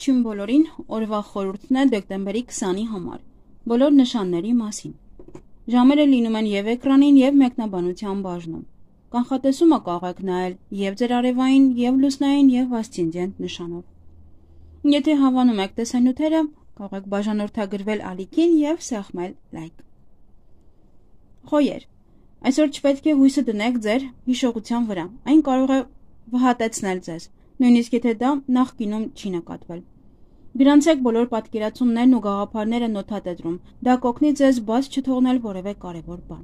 Ողջույն բոլորին, օրվա խորհուրդն է դեկտեմբերի 20-ի համար, բոլոր նշանների մասին։ Ժամերը լինում են և էկրանին, և մեկնաբանության բաժնում։ Կանխատեսումը կարող եք նայել և ձեր արևային, և լուսնային, և ասցենդենտ նշանով։ Եթե հավանում եք տեսանյութերը, կարող եք բաժանորդագրվել ալիքին և սեղմել լայք։ Խոյեր, այսօր չպետք է հույսը դնեք ձեր հիշողության վրա, այն կարող է վհատեցնել ձեզ, նույնիսկ եթե դա նախկինում չի նկատվել։ Գրանցեք բոլոր պատկերացումներն ու գաղափարները նոթատետրում, դա կօգնի ձեզ բաց չթողնել որևէ կարևոր բան։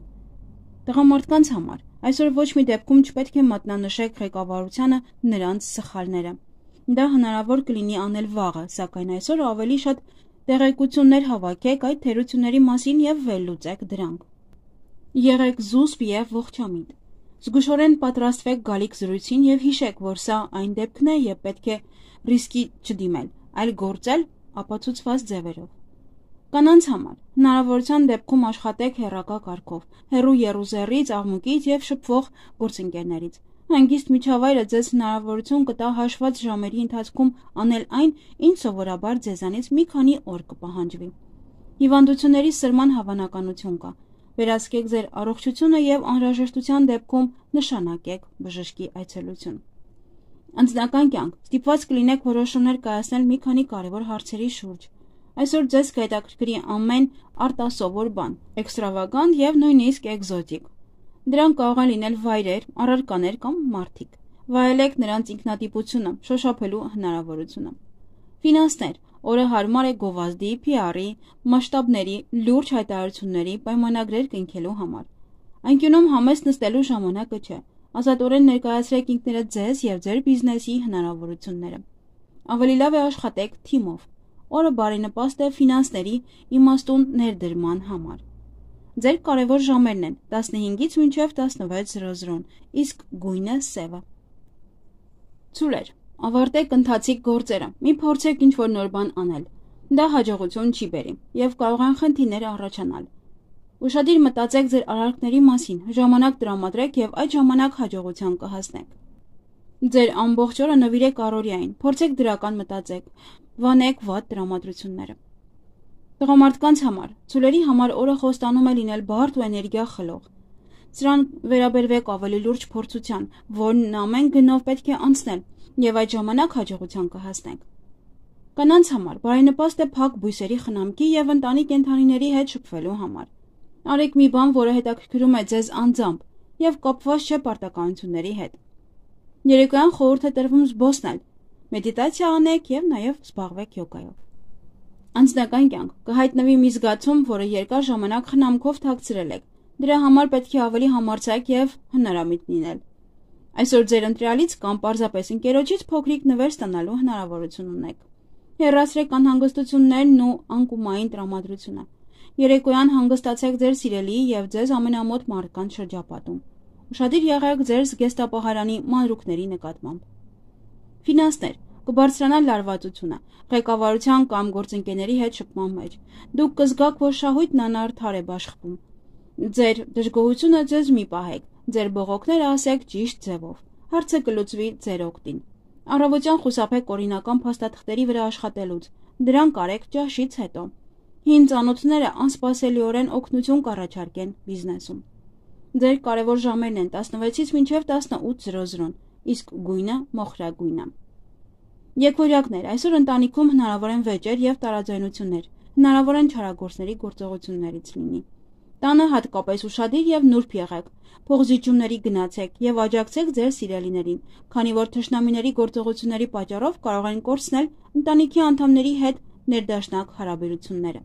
Տղամարդկանց համար այսօր ոչ մի դեպքում չպետք է մատնանշեք ղեկավարությանը նրանց սխալները։ Դա հնարավոր կլինի անել վաղը, սակայն այսօր ավելի շատ տեղեկություններ հավաքեք այդ թերությունների մասին և վերլուծեք դրանք։ Եղեք զուսպ և ողջամիտ։ Զգուշորեն պատրաստվեք գալիք զրույցին և հիշեք, որ սա այն դեպքն է, երբ պետք է ռիսկի չդիմել, այլ գործել ապացուցված ձևերով։ Կանանց համար հնարավորության դեպքում աշխատեք հեռակա կարգով, հեռու եռուզեռից, աղմուկից և շփվող գործընկերներից։ Հանգիստ միջավայրը ձեզ հնարավորություն կտա հաշված ժամերի ընթացքում անել այն, ինչ սովորաբար ձեզանից մի քանի օր կպահանջվի։ Հիվանդությունների սրման հավանականություն կա։ Վերահսկեք ձեր առողջությունը և անհրաժեշտության դեպքում նշանակեք բժշկի այցելություն։ Անձնական կյանք ստիպված կլինեք որոշումներ կայացնել մի քանի կարևոր հարցերի շուրջ։ Այսօր ձեզ կհետաքրքրի ամեն արտասովոր բան, էքստրավագանտ և նույնիսկ էկզոտիկ։ Դրանք կարող են լինել վայրեր, առարկաներ կամ մարդիկ։ Վայելեք նրանց ինքնատիպությունը, շոշափելու հնարավորությունը։ Ֆինանսներ օրը հարմար է գովազդի, PR-ի, մասշտաբների, լուրջ հայտարարությունների, պայմանագրեր կնքելու համար։ Անկյունում համեստ նստելու ժամանակը չէ։ Ազատորեն ներկայացրեք ինքներդ ձեզ և ձեր բիզնեսի հնարավորությունները։ Ավելի լավ է աշխատեք թիմով։ Օրը բարենպաստ է ֆինանսների իմաստուն ներդրման համար։ Ձեր կարևոր ժամերն են 15-ից մինչև 16:00, իսկ գույնը սևը։ Ցուլեր, ավարտեք ընթացիկ գործերը, մի փորձեք ինչ-որ նոր բան անել։ Դա հաջողություն չի բերի և կարող են խնդիրներ առաջանալ։ Ուշադիր մտածեք ձեր արարքների մասին, ժամանակ տրամադրեք և այդ ժամանակ հաջողության կհասնեք։ Ձեր ամբողջ օրը նվիրեք առօրյային, փորձեք դրական մտածեք, վանեք վատ տրամադրությունները։ Տղամարդկանց համար ցուլերի համար օրը խոստանում է լինել բարդ ու էներգիա խլող։ Սրան վերաբերվեք ավելի լուրջ փորձության, որն ամեն գնով պետք է անցնել, և այդ ժամանակ հաջողության կհասնեք։ Կանանց համար բարենպաստ է փակ բույսերի խնամքի և ընտանի կենդանիների հետ շփվելու համար։ Արեք մի բան, որը հետաքրքրում է ձեզ անձամբ և կապված չէ պարտականությունների հետ։ Երեկոյան խորհուրդ է տրվում զբոսնել, մեդիտացիա անեք և նաև զբաղվեք յոգայով։ Անձնական կյանք կհայտնվի մի զգացում, որը երկար ժամանակ խնամքով թաքցրել եք։ Դրա համար պետք է ավելի համարձակ և հնարամիտ լինել։ Այսօր ձեր ընտրյալից կամ պարզապես ընկերոջից փոքրիկ նվեր ստանալու հնարավորություն ունեք։ Հեռացրեք անհանգստություններն ու անկումային տրամադրությունը։ Երեկոյան հանգստացեք ձեր սիրելիի և ձեզ ամենամոտ մարդկանց շրջապատում։ Ուշադիր եղեք ձեր զգեստապահարանի մանրուքների նկատմամբ։ Ֆինանսներ կբարձրանա լարվածությունը, ղեկավարության կամ գործընկերների հետ շփման մեջ։ Դուք կզգաք, որ շահույթն անարդար է բաշխվում։ Ձեր դժգոհությունը ձեզ մի պահեք, ձեր բողոքները ասեք ճիշտ ձևով։ Հարցը կլուծվի ձեր օգտին։ Առավոտյան խուսափեք օրինական փաստաթղթերի վրա աշխատելուց։ Դրանք արեք ճաշից հետո։ Հին ծանոթները անսպասելիորեն օգնություն կառաջարկեն բիզնեսում։ Ձեր կարևոր ժամերն են 16-ից մինչև 18:00, իսկ գույնը մոխրագույնը։ Եկվորյակներ, այսօր ընտանիքում հնարավոր են վեճեր և տարաձայնություններ, հնարավոր են չարագործների գործողություններից լինի։ Տանը հատկապես ուշադիր և նուրբ եղեք, փողզիջումների գնացեք և աջակցեք ձեր սիրելիներին, քանի որ թշնամիների գործողությունների պատճառով կարող են կորցնել ընտանիքի անդամների հետ ներդաշնակ հարաբերությունները։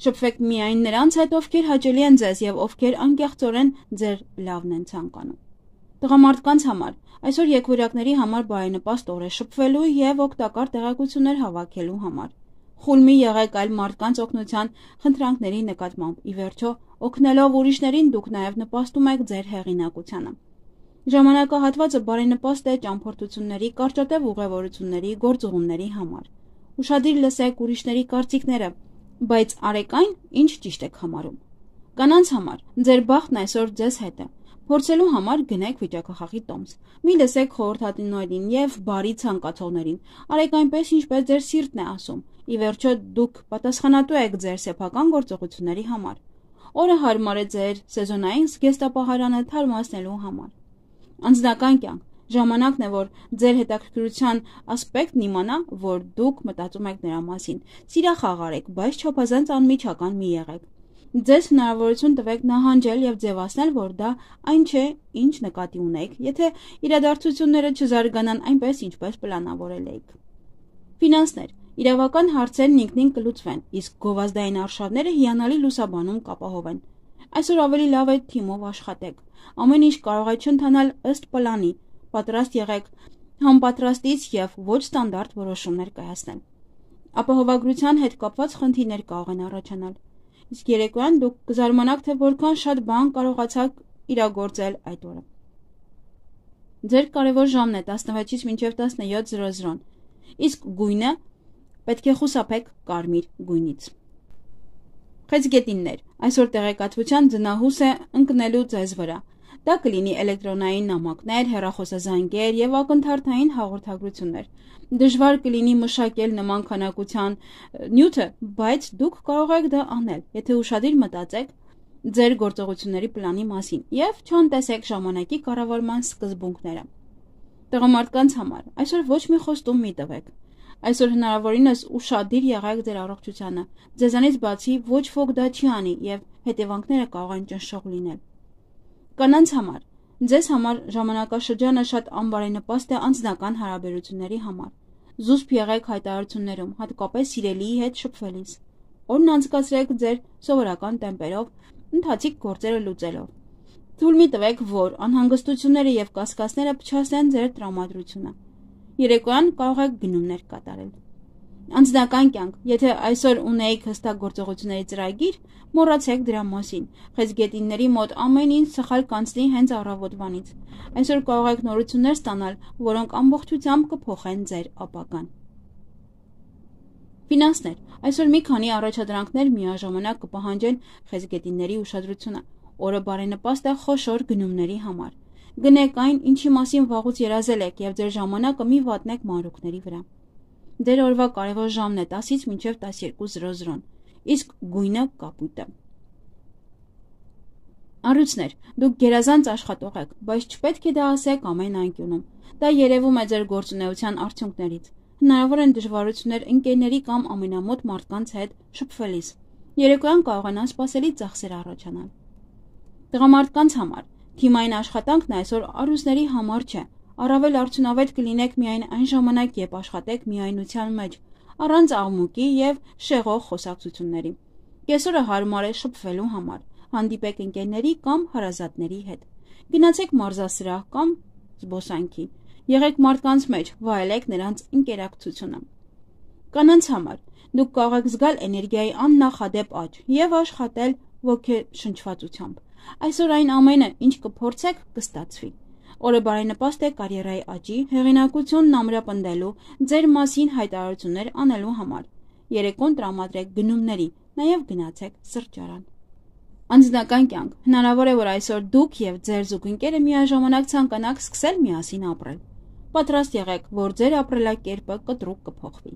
Շփվեք միայն նրանց հետ, ովքեր հաճելի են ձեզ և ովքեր անկեղծորեն ձեր լավն են ցանկանում։ Տղամարդկանց համար այսօր եկվորյակների համար բարենպաստ օր է շփվելու և օգտակար տեղեկություններ հավաքելու համար։ Խուլ մի եղեք այլ մարդկանց օգնության խնդրանքների նկատմամբ, ի վերջո, օգնելով ուրիշներին դուք նաև նպաստում եք ձեր հեղինակությանը։ Ժամանակահատվածը բարենպաստ է ճամփորդությունների, կարճատև ուղևորությունների, գործուղումների համար։ Ուշադիր լսեք ուրիշների կարծիքները, բայց արեք այն, ինչ ճիշտ եք համարում։ Կանանց համար ձեր բախտն այսօր ձեզ հետ է։ Փորձելու համար գնեք վիճակախաղի տոմս։ Մի լսեք խորհրդատուներին եւ բարի ցանկացողներին։ Արեք այնպես, ինչպես ձեր սիրտն է ասում։ Ի վերջո դուք պատասխանատու եք ձեր սեփական գործողությունների համար։ Օրը հարմար է ձեր սեզոնային զգեստապահարանը թարմացնելու համար։ Անձնական կյանք։ Ժամանակն է, որ ձեր հետաքրքրության ասպեկտն իմանա, որ դուք մտածում եք նրա մասին։ Սիրախաղարեք, բայց չափազանց անմիջական մի եղեք։ Ձեզ հնարավորություն տվեք նահանջել եւ ձևացնել, որ դա այն չէ, ինչ նկատի ունեք, եթե իրադարձությունները չզարգանան այնպես, ինչպես պլանավորել էիք։ Ֆինանսներ։ Իրավական հարցերն ինքնին կլուծվեն, իսկ գովազդային արշավները հիանալի լուսաբանում կապահովեն։ Այսօր ավելի լավ է թիմով աշխատեք։ Ամեն ինչ կարող է չընթանալ ըստ պլանի։ Պատրաստ եղեք համապատրաստից եւ ոչ ստանդարտ որոշումներ կայացնել։ Ապահովագրության հետ կապված խնդիրներ կարող են առաջանալ։ Իսկ երեկոյան դուք կզարմանաք, թե որքան շատ բան կարողացաք իրագործել այդ օրը։ Ձեր կարևոր ժամն է 16-ից մինչև 17:00, իսկ գույնը պետք է խուսափեք կարմիր գույնից։ Խեցգետիններ, այսօր տեղեկատվության ձնահուս է ընկնելու ձեզ վրա։ Դա կլինի էլեկտրոնային նամակներ, հեռախոսազանգեր եւ ակնթարթային հաղորդագրություններ։ Դժվար կլինի մշակել նման քանակության նյութը, բայց դուք կարող եք դա անել, եթե ուշադիր մտածեք ձեր գործողությունների պլանի մասին եւ չանտեսեք ժամանակի կառավարման սկզբունքները։ Տղամարդկանց համար այսօր ոչ մի խոստում մի տվեք։ Այսօր հնարավորինս ուշադիր եղեք ձեր առողջությանը։ Ձեզանից բացի ոչ ոք դա չի անի եւ հետևանքները կարող են ճնշող լինել։ Կանանց համար ձեզ համար ժամանակաշրջանը շատ անբարենպաստ է անձնական հարաբերությունների համար։ Զուսպ եղեք հայտարարություններում, հատկապես սիրելիի հետ շփվելիս։ Օրն անցկացրեք ձեր սովորական տեմպերով, ընթացիկ գործերը լուծելով։ Թույլ մի տվեք, որ անհանգստությունները եւ կասկածները փչացնեն ձեր տրամադրությունը։ Երեկոյան կարող եք գնումներ կատարել։ Անձնական կյանք, եթե այսօր ունեիք հստակ գործողությունների ծրագիր, մոռացեք դրա մասին։ Խեցգետինների մոտ ամեն ինչ սխալ կանցնի հենց առավոտվանից։ Այսօր կարող եք նորություններ ստանալ, որոնք ամբողջությամբ կփոխեն ձեր ապագան։ Ֆինանսներ։ Այսօր մի քանի առաջադրանքներ միաժամանակ կպահանջեն խեցգետինների ուշադրությունը։ Օրը բարենպաստ է խոշոր գնումների համար։ Գնեք այն, ինչի մասին վաղուց երազել եք եւ ձեր ժամանակը մի վատնեք մանրուքների վրա։ Ձեր օրվա կարևոր ժամն է 10-ից մինչև 12:00, իսկ գույնը կապույտը։ Առույցներ, դուք գերազանց աշխատող եք, բայց չպետք է դա ասեք ամեն անկյունում։ Դա երևում է ձեր գործունեության արդյունքներից։ Հնարավոր են դժվարություններ ընկերների կամ ամենամոտ մարդկանց հետ շփվելիս։ Երեկոյան կարող են անսպասելի ծախսեր առաջանալ։ Տղամարդկանց համար թիմային աշխատանքն այսօր առույցների համար չէ։ Առավել արդյունավետ կլինեք միայն այն ժամանակ, երբ աշխատեք միայնության մեջ, առանց աղմուկի եւ շեղող խոսակցությունների։ Կեսօրը հարմար է շփվելու համար։ Հանդիպեք ընկերների կամ հարազատների հետ։ Գնացեք մարզասրահ կամ զբոսանքի։ Եղեք մարդկանց մեջ, վայելեք նրանց ինտերակցիոնը։ Կանանց համար դուք կարող եք զգալ էներգիայի աննախադեպ աճ եւ աշխատել ոգեշնչվածությամբ։ Այսօր այն ամենը, ինչ կփորձեք, կստացվի։ Օրը բարենպաստ է կարիերայի աճի, հեղինակությունն ամրապնդելու, ձեր մասին հայտարարություններ անելու համար։ Երեկոն տրամադրեք գնումների, նաև գնացեք սրճարան։ Անձնական կյանք։ Հնարավոր է, որ այսօր դուք եւ ձեր զուգընկերը միաժամանակ ցանկանաք սկսել միասին ապրել։ Պատրաստ եղեք, որ ձեր ապրելակերպը կտրուկ կփոխվի։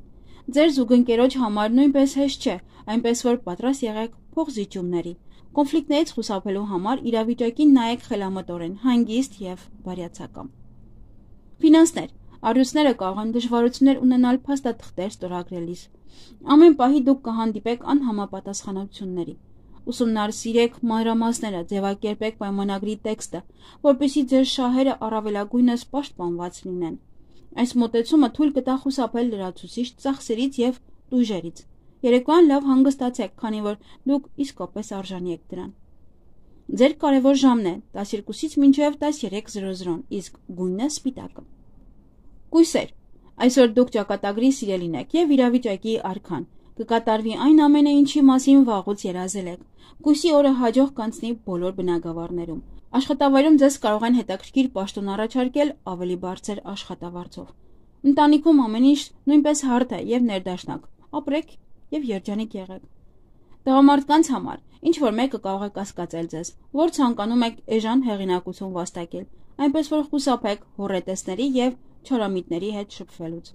Ձեր զուգընկերոջ համար նույնպես հեշտ չէ, այնպես որ պատրաստ եղեք փոխզիջումների։ Կոնֆլիկտներից խուսափելու համար իրավիճակին նայեք խելամտորեն, հանգիստ եւ բարյացակամ։ Ֆինանսներ։ Առույցները կարող են դժվարություններ ունենալ փաստաթղթեր ստորագրելիս։ Ամեն պահի դուք կհանդիպեք անհամապատասխանությունների։ Ուսումնասիրեք մանրամասները, ձևակերպեք պայմանագրի տեքստը, որպեսզի ձեր շահերը առավելագույնս պաշտպանված լինեն։ Այս մոտեցումը թույլ կտա խուսափել լրացուցիչ ծախսերից եւ տույժերից։ Երեկոյան լավ հանգստացեք, քանի որ դուք իսկապես արժանի եք դրան։ Ձեր կարևոր ժամն է 12-ից մինչև 13:00, իսկ գույնը սպիտակը։ Կույսեր։ Այսօր դուք ճակատագրի սիրելին եք եւ իրավիճակի արքան։ Կկատարվի այն ամենը, ինչի մասին վաղուց երազել եք։ Կույսի օրը հաջող կանցնի բոլոր բնագավառներում։ Աշխատավայրում ձեզ կարող են հետաքրքիր պաշտոն առաջարկել ավելի բարձր աշխատավարձով։ Ընտանիքում ամեն ինչ նույնպես հարթ է եւ ներդաշնակ։ Ապրեք եւ երջանիկ եղեք։ Տղամարդկանց համար ինչ որ մեկը կարող է կասկածել ձեզ, որ ցանկանում եք էժան հեղինակություն վաստակել, այնպես որ խուսափեք հոռետեսների եւ չորամիտների հետ շփվելուց։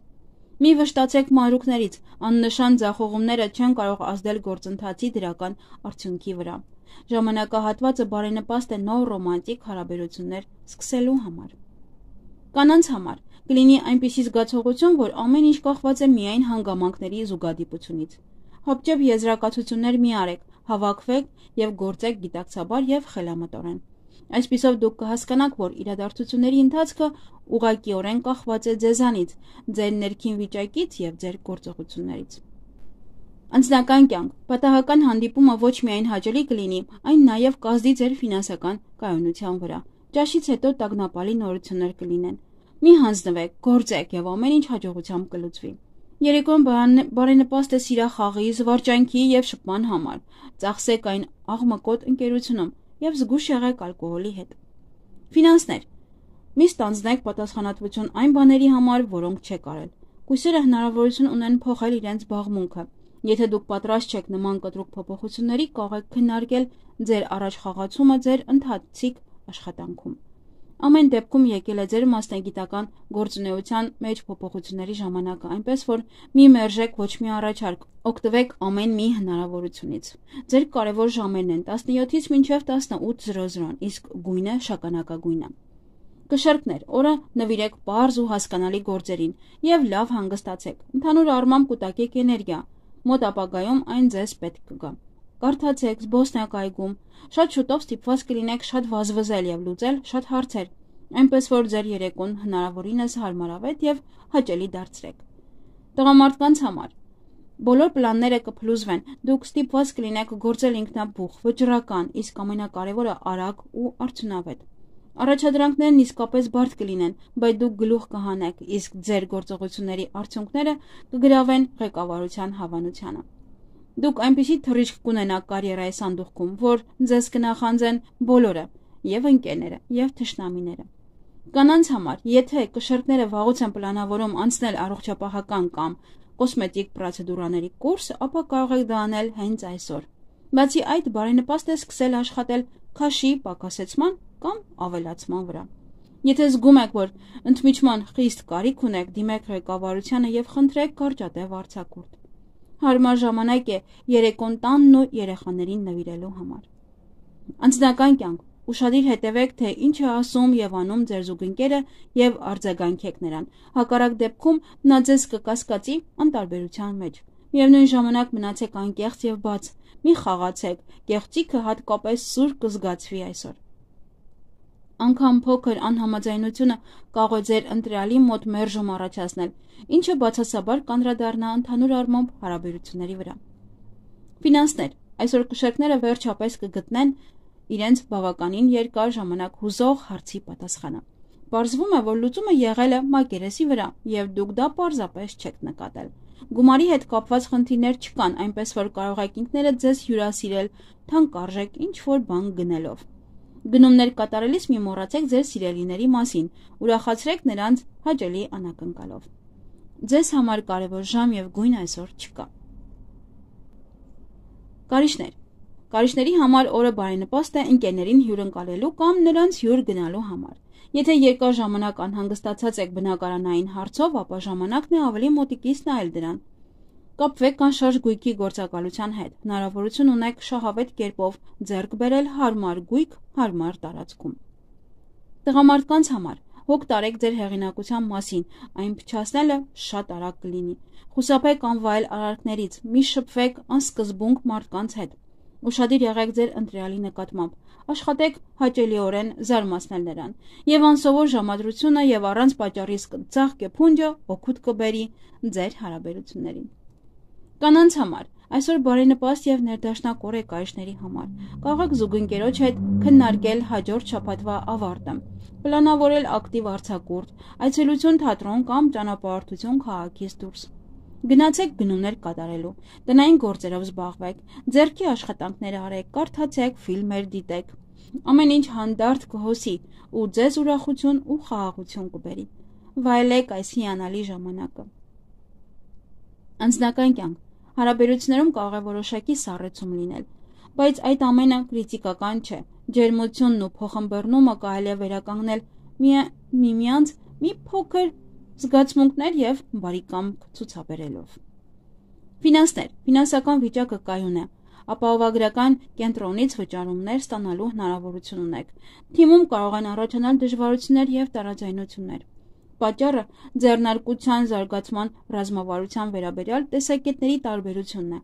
Մի վշտացեք մանրուքներից, աննշան ձախողումները չեն կարող ազդել գործընթացի դրական արդյունքի վրա։ Ժամանակահատվածը բարենպաստ է նոր ռոմանտիկ հարաբերություններ սկսելու համար։ Կանանց համար կլինի այնպիսի զգացողություն, որ ամեն ինչ կախված է միայն հանգամանքների զուգադիպությունից։ Հապճեպ եզրակացություններ մի արեք, հավաքվեք եւ գործեք գիտակցաբար եւ խելամտորեն։ Այսպիսով դուք կհասկանաք, որ իրադարձությունների ընթացքը ուղղակիորեն կախված է ձեզանից, ձեր ներքին վիճակից եւ ձեր գործողություններից։ Անձնական կյանք, պատահական հանդիպումը ոչ միայն հաճելի կլինի, այն նաեւ կազդի ձեր ֆինանսական կայունության վրա։ Ճաշից հետո տագնապալի նորություններ կլինեն։ Մի հանձնվեք, գործեք եւ ամեն ինչ հաջողությամբ կլուծվի։ Երեկոն բարենպաստ է սիրախաղի, զվարճանքի եւ շփման համար։ Ծախսեք այն աղմկոտ ընկերությունում եւ զգուշ եղեք ալկոհոլի հետ։ Ֆինանսներ։ Մի ստանձնեք պատասխանատվություն այն բաների համար, որոնք չեք արել։ Կույսերը հնարավորություն ունեն փոխել իրենց զբաղմունքը։ Եթե դուք պատրաստ չեք նման կտրուկ փոփոխությունների, կարող եք քննարկել ձեր առաջխաղացումը ձեր ընթացիկ աշխատանքում։ Ամեն դեպքում եկել է ձեր մասնագիտական գործունեության մեջ փոփոխությունների ժամանակը, այնպես որ մի մերժեք ոչ մի առաջարկ, օգտվեք ամեն մի հնարավորությունից։ Ձեր կարևոր ժամերն են 17-ից մինչև 18:00, իսկ գույնը շագանակագույն է։ Կշեռքներ, օրը նվիրեք պարզ ու հասկանալի գործերին եւ լավ հանգստացեք։ Ընդհանուր առմամբ կուտակեք էներգիա, մոտ ապագայում այն ձեզ պետք կգա։ Կարդացեք, զբոսնեք այգում, շատ շուտով ստիպված կլինեք շատ վազվզել եւ լուծել շատ հարցեր, այնպես որ ձեր երեկոն հնարավորինս հարմարավետ եւ հաճելի դարձրեք։ Տղամարդկանց համար բոլոր պլանները կփլուզվեն, դուք ստիպված կլինեք գործել ինքնաբուխ, վճռական, իսկ ամենակարևորը արագ ու արդյունավետ։ Առաջադրանքներն իսկապես բարդ կլինեն, բայց դուք գլուխ կհանեք, իսկ ձեր գործողությունների արդյունքները կգրավեն ղեկավարության հավանությանը։ Դուք այնպիսի թռիչք կունենաք կարիերայի սանդուղքում, որ ձեզ կնախանձեն բոլորը, եւ ընկերները, եւ թշնամիները։ Կանանց համար, եթե կշեռքները վաղուց են պլանավորում անցնել առողջապահական կամ կոսմետիկ պրոցեդուրաների կուրս, ապա կարող եք դա անել հենց այսօր։ Բացի այդ, բարենպաստ է սկսել աշխատել քաշի պակասեցման կամ ավելացման վրա։ Եթե զգում եք, որ ընդմիջման խիստ կարիք ունեք, դիմեք ղեկավարությանը եւ խնդրեք կարճատև արձակուրդ։ Հարմար ժամանակ է երեկոն տանն ու երեխաներին նվիրելու համար։ Անձնական կյանք, ուշադիր հետևեք, թե ինչ է ասում եւ անում ձեր զուգընկերը եւ արձագանքեք նրան։ Հակառակ դեպքում նա ձեզ կկասկածի անտարբերության մեջ։ Միևնույն ժամանակ մնացեք անկեղծ եւ բաց, մի խաղացեք, կեղծիքը հատկապես սուր կզգացվի այսօր։ Անկամ փոքր անհամաձայնությունը կարող է ձեր ընտրյալի մոտ մերժում առաջացնել, ինչը բացասաբար կանդրադառնա ընդհանուր առմամբ հարաբերությունների վրա։ Ֆինանսներ, այսօր կշեռքները վերջապես կգտնեն իրենց բավականին երկար ժամանակ հուզող հարցի պատասխանը։ Պարզվում է, որ լուծումը եղել է մակերեսի վրա, եւ դուք դա պարզապես չեք նկատել։ Գումարի հետ կապված խնդիրներ չկան, այնպես որ կարող եք ինքներդ ձեզ հյուրասիրել թանկարժեք ինչ-որ բան գնելով։ Գնումներ կատարելիս մի մոռացեք ձեր սիրելիների մասին, ուրախացրեք նրանց հաճելի անակնկալով։ Ձեզ համար կարևոր ժամ եւ գույն այսօր չկա։ Կարիճներ։ Կարիճների համար օրը բարենպաստ է ընկերներին հյուրընկալելու կամ նրանց հյուր գնալու համար։ Եթե երկար ժամանակ անհանգստացած եք բնակարանային հարցով, ապա ժամանակն է ավելի մոտիկից նայել դրան։ Կապվեք կանշարժ գույքի գործակալության հետ։ Հնարավորություն ունեք շահավետ կերպով ձեռք բերել հարմար գույք հարմար տարածքում։ Տղամարդկանց համար հոգ տարեք ձեր հեղինակության մասին, այն փչացնելը շատ արագ կլինի։ Խուսափեք անվայել արարքներից, մի շփվեք անսկզբունք մարդկանց հետ։ Ուշադիր եղեք ձեր ընտրյալի նկատմամբ, աշխատեք հաճելիորեն զարմացնել նրան, եւ անսովոր ժամադրությունը եւ առանց պատճառի ծաղկե փունջը օգուտ կբերի ձեր հարաբերություններին։ Կանանց համար այսօր բարենպաստ եւ ներդաշնակ օր է կարիճների համար։ Կարող եք զուգընկերոջ հետ քննարկել հաջորդ շաբաթվա ավարտը, պլանավորել ակտիվ արձակուրդ, այցելություն թատրոն կամ ճանապարհորդություն քաղաքից դուրս։ Գնացեք գնումներ կատարելու, տնային գործերով զբաղվեք, ձեռքի աշխատանքներ արեք, կարդացեք, ֆիլմեր դիտեք։ Ամեն ինչ հանդարտ կհոսի ու ձեզ ուրախություն ու խաղաղություն կբերի։ Վայելեք այս հիանալի ժամանակը։ Անձնական կյանք, Հարաբերություններում կարող է որոշակի սառեցում լինել, բայց այդ ամենը կրիտիկական չէ։ Ջերմությունն ու փոխըմբռնումը կարելի է վերականգնել միմյանց մի փոքր զգացմունքներ եւ բարի կամք ցուցաբերելով։ Ֆինանսներ։ Ֆինանսական վիճակը կայուն է։ Ապահովագրական կենտրոնից վճարումներ ստանալու հնարավորություն ունեք։ Թիմում կարող են առաջանալ դժվարություններ եւ տարաձայնություններ։ Պատճառը ձեռնարկության զարգացման ռազմավարության վերաբերյալ տեսակետների տարբերությունն է։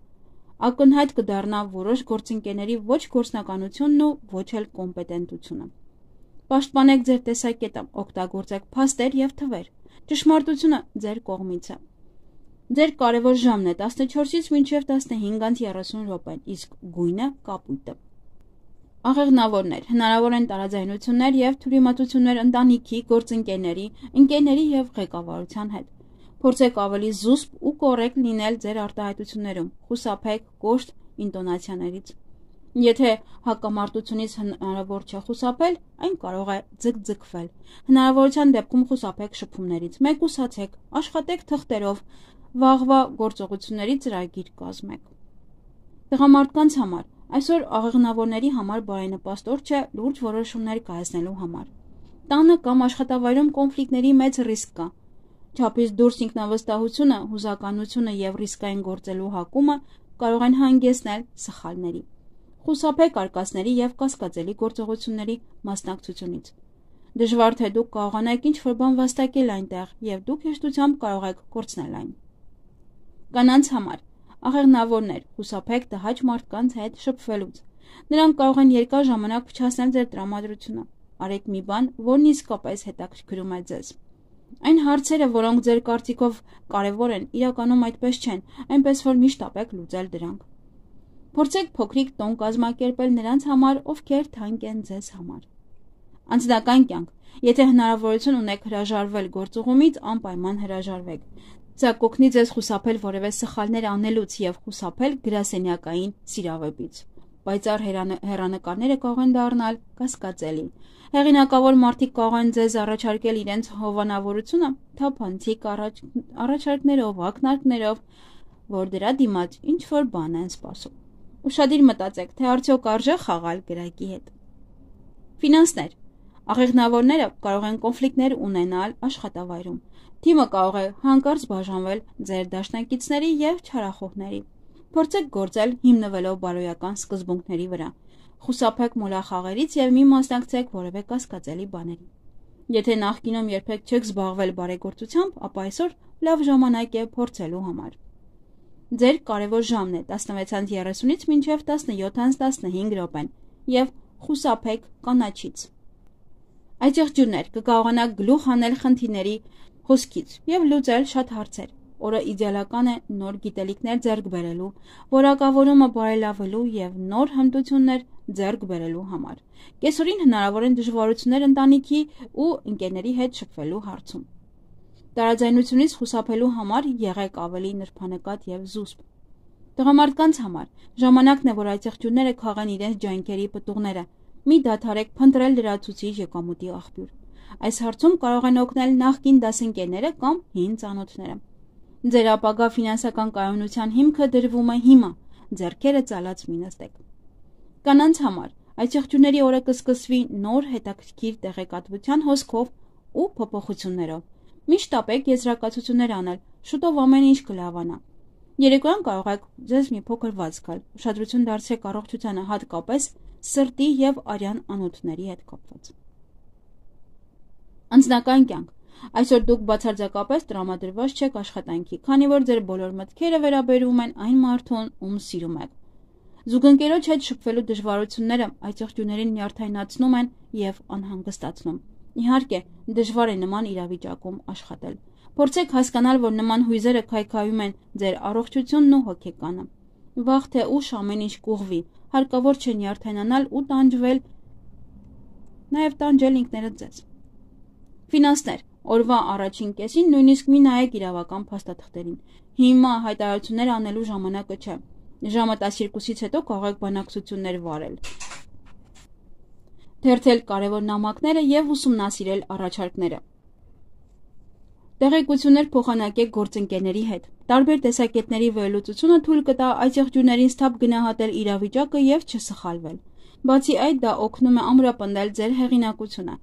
Ակնհայտ կդառնա որոշ գործընկերների ոչ գործնականությունն ու ոչ էլ կոմպետենտությունը։ Պաշտպանեք ձեր տեսակետը, օգտագործեք փաստեր եւ թվեր։ Ճշմարտությունը ձեր կողմից է։ Ձեր կարևոր ժամն է 14-ից մինչև 15:30 րոպեն, իսկ գույնը կապույտը։ Աղեղնավորներ։ Հնարավոր են տարաձայնություններ եւ թյուրիմացություններ ընտանիքի, գործընկերների, ընկերների եւ ղեկավարության հետ։ Փորձեք ավելի զուսպ ու կոռեկտ լինել ձեր արտահայտություններում։ Խուսափեք կոշտ ինտոնացիաներից։ Եթե հակամարտությունից հնարավոր չէ խուսափել, այն կարող է ձգձգվել։ Հնարավորության դեպքում խուսափեք շփումներից։ Մեկուսացեք, աշխատեք թղթերով, վաղվա գործողությունների ծրագիր կազմեք։ Տղամարդկանց համար այսօր աղեղնավորների համար բարենպաստ օր չէ լուրջ որոշումներ կայացնելու համար։ Տանը կամ աշխատավայրում կոնֆլիկտների մեծ ռիսկ կա։ Չափից դուրս ինքնավստահությունը, հուզականությունը եւ ռիսկային գործելու հակումը կարող են հանգեցնել սխալների։ Խուսափեք արկածների եւ կասկածելի գործողությունների մասնակցությունից։ Դժվար թե դուք կարողանաք ինչ-որ բան վաստակել այնտեղ եւ դուք հեշտությամբ կարող եք կորցնել այն։ Կանանց համար աղեղնավորներ, խուսափեք տհաճ մարդկանց հետ շփվելուց։ Նրանք կարող են երկար ժամանակ փչացնել ձեր տրամադրությունը։ Արեք մի բան, որն իսկապես հետաքրքրում է ձեզ։ Այն հարցերը, որոնք ձեր կարծիքով կարևոր են, իրականում այդպես չեն, այնպես որ միշտ ապեք լուծել դրանք։ Փորձեք փոքրիկ տոն կազմակերպել նրանց համար, ովքեր թանկ են ձեզ համար։ Անձնական կյանք։ Եթե հնարավորություն ունեք հրաժարվել գործուղումից, անպայման հրաժարվեք։ Սա կօգնի ձեզ խուսափել որևէ սխալներ անելուց եւ խուսափել գրասենյակային սիրավեպից։ Պայծառ հեռանկարները կարող են դառնալ կասկածելի։ Հեղինակավոր մարդիկ կարող են ձեզ առաջարկել իրենց հովանավորությունը թափանցիկ առաջարկներով, ակնարկներով, որ դրա դիմաց ինչ-որ բան են սպասում։ Ուշադիր մտածեք, թե արդյոք արժե խաղալ գրակի հետ։ Ֆինանսներ։ Աղեղնավորները կարող են կոնֆլիկտներ ունենալ աշխատավայրում։ Թիմը կարող է հանկարծ բաժանվել ձեր դաշնակիցների եւ չարախոհների։ Փորձեք գործել հիմնվելով բարոյական սկզբունքների վրա։ Խուսափեք մոլախաղերից եւ մի մասնակցեք որևէ կասկածելի բաների։ Եթե նախկինում երբեք չեք զբաղվել բարեգործությամբ, ապա այսօր լավ ժամանակ է փորձելու համար։ Ձեր կարևոր ժամն է 16:30-ից մինչև 17:15 րոպեն եւ խուսափեք կանաչից։ Այցեղջյուրներ կկարողանաք գլուխ հանել խնդիրների հոսքից եւ լուծել շատ հարցեր։ Օրը իդեալական է նոր գիտելիքներ ձեռք բերելու, որակավորումը բարելավելու եւ նոր հմտություններ ձեռք բերելու համար։ Կեսօրին հնարավոր են դժվարություններ ընտանիքի ու ընկերների հետ շփվելու հարցում։ Տարաձայնությունից խուսափելու համար եղեք ավելի նրբանկատ եւ զուսպ։ Տղամարդկանց համար ժամանակն է, որ այցեղջյուրները քաղեն իրենց ջանքերի պտուղները։ Մի դադարեք փնտրել լրացուցիչ եկամուտի աղբյուր։ Այս հարցում կարող են օգնել նախկին դասընկերները կամ հին ծանոթները։ Ձեր ապագա ֆինանսական կայունության հիմքը դրվում է հիմա, ձեռքերը ծալած մի նստեք։ Կանանց համար այցեղջյուրների օրը կսկսվի նոր հետաքրքիր տեղեկատվության հոսքով ու փոփոխություններով։ Միշտ ապեք եզրակացություններ անել, շուտով ամեն ինչ կլավանա։ Երեկոյան կարող եք ձեզ մի փոքր վաց գալ, ուշադրություն դարձրեք առողջությանը, հատկապես սրտի եւ արյան անոթների հետ կապված։ Անձնական կյանք։ Այսօր դուք բացարձակապես տրամադրված չեք աշխատանքի, քանի որ ձեր բոլոր մտքերը վերաբերում են այն մարդուն, ում սիրում եք։ Զուգընկերոջ հետ շփվելու դժվարությունները այցեղջյուրներին նյարդայնացնում են եւ անհանգստացնում։ Իհարկե, դժվար է նման իրավիճակում աշխատել։ Փորձեք հասկանալ, որ նման հույզերը քայքայում են ձեր առողջությունն ու հոգեկանը։ Վաղ թե ուշ ամեն ինչ կուղվի, հարկավոր չէ նյարդայնանալ ու տանջվել, նաեւ տանջել ինքներդ ձեզ։ Ֆինանսներ։ Օրվա առաջին կեսին նույնիսկ մի նայեք իրավական փաստաթղթերին։ Հիմա հայտարարություններ անելու ժամանակը չէ։ Ժամը 12-ից հետո կարող եք բանակցություններ վարել, թերթել կարևոր նամակները եւ ուսումնասիրել առաջարկները։ Տեղեկություններ փոխանակեք գործընկերների հետ։ Տարբեր տեսակետների վերլուծությունը թույլ կտա այս եղջյուրներին սթափ գնահատել իրավիճակը եւ չսխալվել։ Բացի այդ, դա օգնում է ամրապնդել ձեր հեղինակությունը։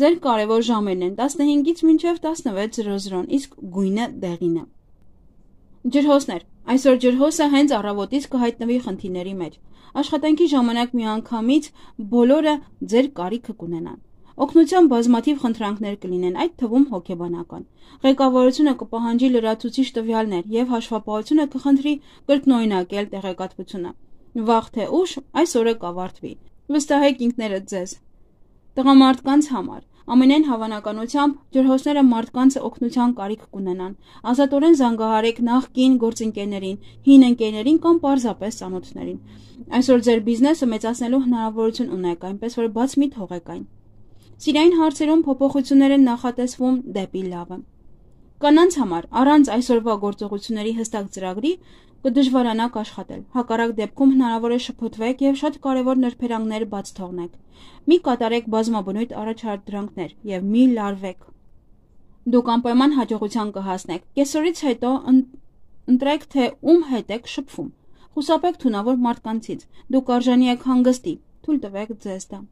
Ձեր կարևոր ժամերն են 15-ից մինչև 16:00, իսկ գույնը դեղին է։ Ջրհոսներ։ Այսօր ջրհոսը հենց առավոտից կհայտնվի խնդիրների մեջ։ Աշխատանքի ժամանակ միանգամից բոլորը ձեր կարիքը կունենան։ Օգնության բազմաթիվ խնդրանքներ կլինեն, այդ թվում հոգեբանական։ Ղեկավարությունը կպահանջի լրացուցիչ տվյալներ եւ հաշվապահությունը կխնդրի կրկնօրինակել տեղեկատվությունը։ Վաղ թե ուշ այս օրը կավարտվի։ Վստահեք ինքներդ ձեզ։ Տղամարդկանց համար ամենայն հավանականությամբ ջրհոսները մարդկանց օգնության կարիք կունենան։ Ազատորեն զանգահարեք նախկին գործընկերներին, հին ընկերներին կամ պարզապես ծանոթներին։ Այսօր ձեր բիզնեսը մեծացնելու հնարավորություն ունեք, այնպես որ բաց մի թողեք այն։ Սիրային հարցերում փոփոխություններ են նախատեսվում դեպի լավը։ Կանանց համար առանց այսօրվա գործողությունների հստակ ծրագրի կդժվարանաք աշխատել։ Հակառակ դեպքում հնարավոր է շփոթվեք եւ շատ կարեւոր նրբերանգներ բաց թողնեք։ Մի կատարեք բազմաբնույթ առաջադրանքներ եւ մի լարվեք։ Դուք անպայման հաջողության կհասնեք։ Կեսօրից հետո ընտրեք, թե ում հետ եք շփվում։ Խուսափեք թունավոր մարդկանցից։ Դուք արժանի եք հանգստի, թույլ տվեք ձեզ դա։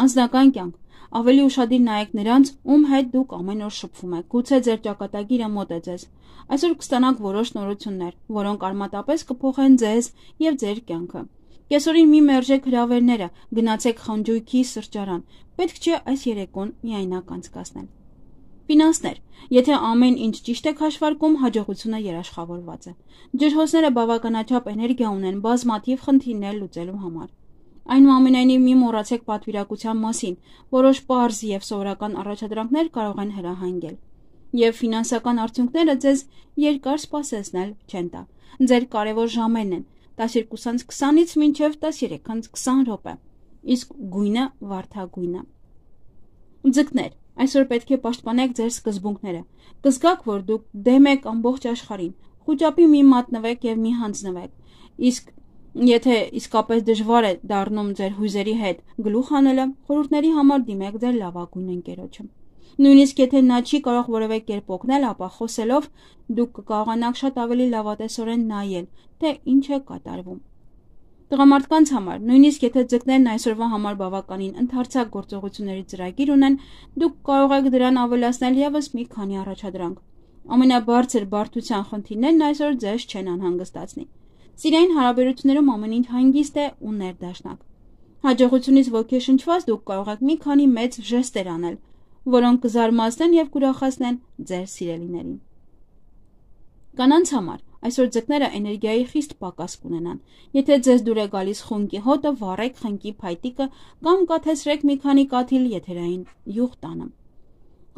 Անձնական կյանք։ Ավելի ուշադիր նայեք նրանց, ում հետ դուք ամեն օր շփվում եք։ Գուցե ձեր ճակատագիրը մոտ է ձեզ։ Այսօր կստանաք որոշ նորություններ, որոնք արմատապես կփոխեն ձեզ եւ ձեր կյանքը։ Կեսօրին մի մերժեք հրավերները, գնացեք խնջույքի սրճարան։ Պետք չէ այս երեկոն միայնակ անցկացնել։ Ֆինանսներ։ Եթե ամեն ինչ ճիշտ եք հաշվարկում, հաջողությունը երաշխավորված է։ Ջրհոսները բավականաչափ էներգիա ունեն բազմաթիվ խնդիրներ լուծելու համար։ Այնուամենայնիվ մի մոռացեք պատվիրակության մասին, որոշ պարզ եւ սովորական առաջադրանքներ կարող են հրահանգել։ Եվ ֆինանսական արդյունքները ձեզ երկար սպասեցնել չեն տա։ Ձեր կարևոր ժամերն են 12:20-ից մինչև 13:20 րոպե, իսկ գույնը վարդագույնը։ Ձկներ, այսօր պետք է պաշտպանեք ձեր սկզբունքները։ Կզգաք, որ դուք դեմ եք ամբողջ աշխարհին։ Խուճապի մի մատնվեք եւ մի հանձնվեք։ Իսկ եթե իսկապես դժվար է դառնում ձեր հույզերի հետ գլուխ հանելը, խորհուրդների համար դիմեք ձեր լավագույն ընկերոջը։ Նույնիսկ եթե նա չի կարող որևէ կերպ օգնել, ապա խոսելով դուք կկարողանաք շատ ավելի լավատեսորեն նայել, թե ինչ է կատարվում։ Տղամարդկանց համար, նույնիսկ եթե ձկներն այսօրվա համար բավականին ընդարձակ գործողությունների ծրագիր ունեն, դուք կարող եք դրան ավելացնել եւս մի քանի առաջադրանք։ Ամենաբարձր բարդության խնդիրներն այսօր ձեզ չեն անհանգստացնի։ Սիրային հարաբերություններում ամեն ինչ հանգիստ է ու ներդաշնակ։ Հաջողությունից ոգեշնչված դուք կարող եք մի քանի մեծ ժեստեր անել, որոնք կզարմացնեն եւ կուրախացնեն ձեր սիրելիներին։ Կանանց համար այսօր ձկները էներգիայի խիստ պակաս կունենան։ Եթե ձեզ դուր է գալիս խունկի հոտը, վառեք խնկի փայտիկը կամ կաթեցրեք մի քանի կաթիլ եթերային յուղ տանը։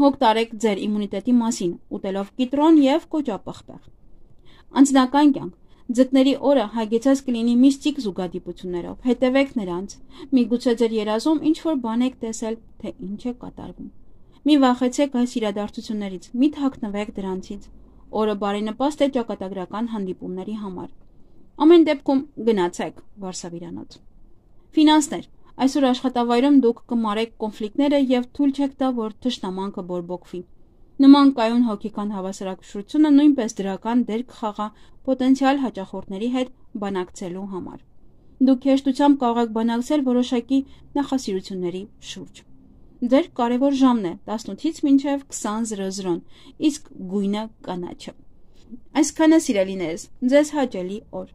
Հոգ տարեք ձեր իմունիտետի մասին, ուտելով կիտրոն եւ կոճապղպեղ։ Անձնական կյանք։ Ձկների օրը հագեցած կլինի միստիկ զուգադիպություններով։ Հետևեք նրանց։ Միգուցե ձեր երազում ինչ-որ բան եք տեսել, թե ինչ է կատարվում։ Մի վախեցեք այս իրադարձություններից, մի թաքնվեք դրանցից։ Օրը բարենպաստ է ճակատագրական հանդիպումների համար։ Ամեն դեպքում գնացեք վարսավիրանոց։ Ֆինանսներ։ Այսօր աշխատավայրում դուք կմարեք կոնֆլիկտները եւ թույլ չեք տա, որ թշնամանքը բորբոքվի։ Նման կայուն հոգեկան հավասարակշռությունը նույնպես դրական դեր կխաղա պոտենցիալ հաճախորդների հետ բանակցելու համար։ Դուք հեշտությամբ կարող եք բանակցել որոշակի նախասիրությունների շուրջ։ Ձեր կարևոր ժամն է 18-ից մինչև 20:00, իսկ գույնը կանաչը։ Այսքանը սիրելիներս, ձեզ հաճելի օր։